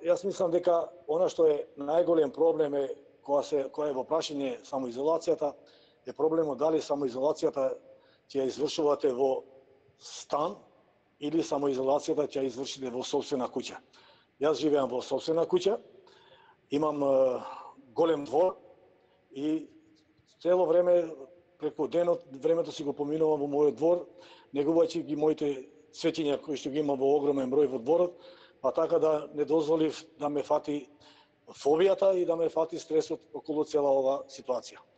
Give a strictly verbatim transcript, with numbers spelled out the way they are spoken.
Јас мислам дека она што е најголем проблем е кога се кога е во прашање самоизолацијата, е проблемот дали самоизолацијата ќе ја извршувате во стан или самоизолацијата ќе ја извршите во сопствена куќа. Јас живеам во сопствена куќа, имам е, голем двор и цело време преку денот времето си го поминувам во мојот двор, негувајќи ги моите цветиња кои што ги имам во огромен број во дворот, па така да не дозволив да ме фати фобијата и да ме фати стресот околу цела ова ситуација.